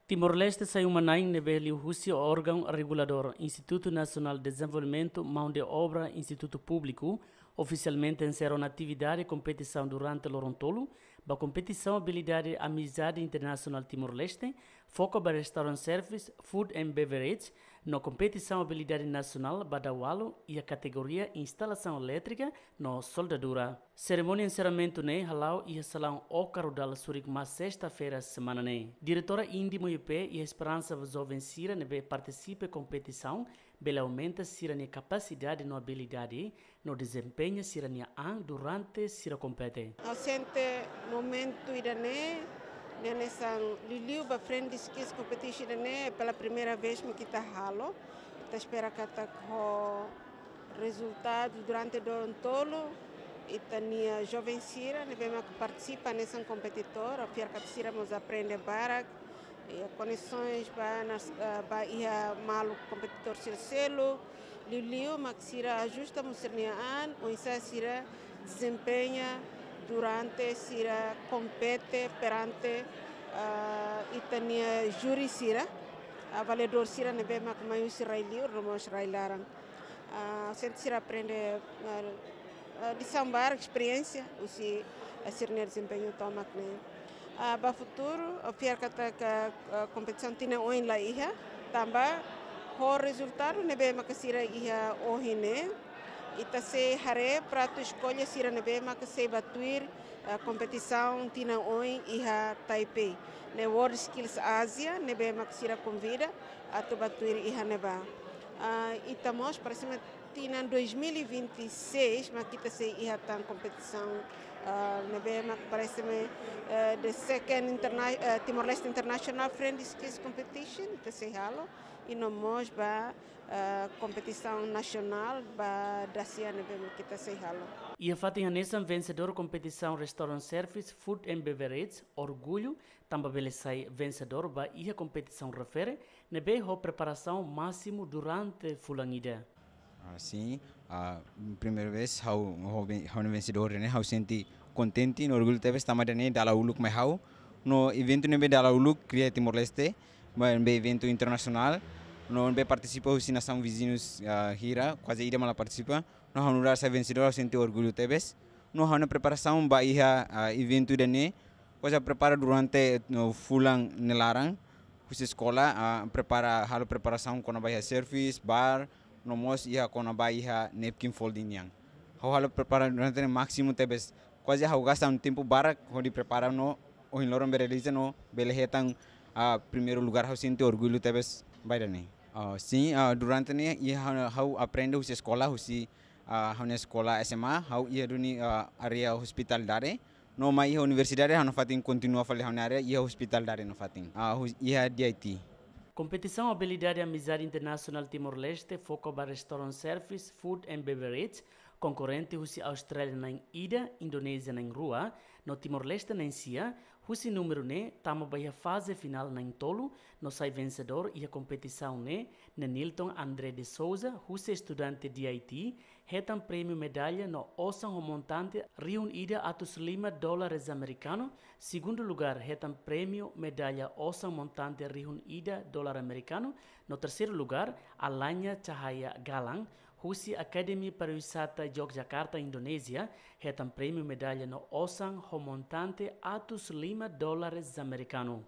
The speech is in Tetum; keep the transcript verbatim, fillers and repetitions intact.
Timor-Leste sai uma-na'in ne'ebé liu husi órgaun reguladór Institutu Nasionál Dezenvolvimentu Maun de Obra Institutu Públiku ofisialmente enserra ona atividade kompetisaun durante loron tolu, ba kompetisaun abilidade Amizade Internasionál Timor-Leste, foka ba restaurant service, food and beverage, no kompetisaun abilidade nasionál ba daualu iha kategoria instalasaun elétrika no soldadura. Serimónia enserramentu ne'e hala'o iha salaun Oka Rudal Surik Mas sesta-feira semana ne'e. Diretora Indi Muipe iha esperansa ba joven sira ne'ebé partisipa kompetisaun bele aumenta sira-nia kapasidade no abilidade no dezempeña sira-nia an durante sira kompete. Ha'u sente momentu ida-ne'e, ne'e hanesan liuliu ba Friendly Skills Competition ida-ne'e, pela primeira vez mak ita halo. Ita espera katak ho rezultadu durante loron tolu, ita-nia joven sira ne'ebé mak partisipa hanesan kompetidór, ha'u fiar katak sira mós aprende barak, iha kondisoens ba nas, ah, ba iha maluk kompetidór sira seluk, liuliu mak sira ajusta mós sira-nia an, oinsá sira dezempeña durante sira kompete perante, ah, ita-nia júri sira, avaliadór sira ne'ebé mak mai husi rai-li'ur no mós rai-laran. Ah, sente sira aprende, ah, ah, lisaun barak, esperiénsia husi, ah, sira-nia dezempeñu tomak ne'e. Ah, ba futuru, ha'u fiar katak, ah, kompetisaun tinan oin la iha, tanba ho rezultadu ne'ebé maka sira iha ohin ne'e, ita sei haree pratu eskolha sira ne'ebé maka sei ba tuir, ah, kompetisaun tinan oin iha Taipei, ne'e World Skills Asia, ne'ebé maka sira konvida atu ba tuir iha ne'ebá. Ah, ita mós, parese-me, tinan dois mil e vinte e seis mak ita sei iha tan kompetisaun, ah, ne'ebé mak parese-me, eh, the second interna-, eh, Timor-Leste International Friendly Skills Competition, ita sei halo, i no mós ba, eh, kompetisaun nasionál ba dasia ne'ebé mak ita sei halo. Iha fatin hanesan, vensedór kompetisaun Restaurant Service, Food and Beverage, orgullu, tanba bele sai vensedór ba iha kompetisaun refere, ne'ebé ho preparasaun másimu durante fulan ida. Ah, sin, ah, primeira vez ha'u, ha'u ven-, ha'u vensedór ne'e, ha'u sente kontente no orgullu tebes tanba ida-ne'e dala uluk mai ha'u. No eventu ne'ebé dala uluk kria Timor-Leste, ba, ne'ebé eventu internasionál, no ne'ebé partisipa husi nasaun viziñu, ah, hira, kuaze ida mak la partisipa. No ha'u nu'udar sai vensedór, ha'u sente orgullu tebes. No ha'u-nia preparasaun ba iha, ah, eventu ida-ne'e, ha'u sei prepara durante, no, fulan nia laran, husi eskola, ah, prepara, halo preparasaun kona-ba iha service, bar, no mós iha kona-ba iha napkin folding nian. Ha'u halo prepara durante ne'e másimu tebes. Kuaze ha'u gasta tempu barak hodi prepara no ohin loron bele realiza no bele hetan, ah, primeiru lugar, ha'u sente orgullu tebes ba ida-ne'e. Ah, sin, ah, durante ne'e iha ha'u, ha'u aprende husi eskola, husi, ah, ha'u-nia eskola S M A, ha'u iha duni, ah, área hospitalidade. No mai iha universidade, ha'u nafatin kontinua fali ha'u-nia área iha hospitalidade nafatin. Ah, hus-, iha D I T. Kompetisaun abilidade Amizade Internasionál Timor-Leste foka ba restaurant service, food and beverage, konkorrente husi Austrália na'in ida, Indonézia na'in rua, no Timor-Leste na'in sia, husi númeru ne'e tama ba iha faze finál na'in tolu, no sai vensedór iha kompetisaun ne'e, Nenilton André de Souza, husi estudante D I T, hetan prémiu medalla no osan ho montante rihun ida atus lima dólares amerikanu, segundu lugar hetan prémiu medalla osan montante rihun ida dólar amerikanu, no terseiru lugar, Alanya Cahaya Galang, husi Akademi Pariwisata Yogyakarta, Indonézia, hetan prémiu medalla no osan ho montante atus lima dólares amerikanu.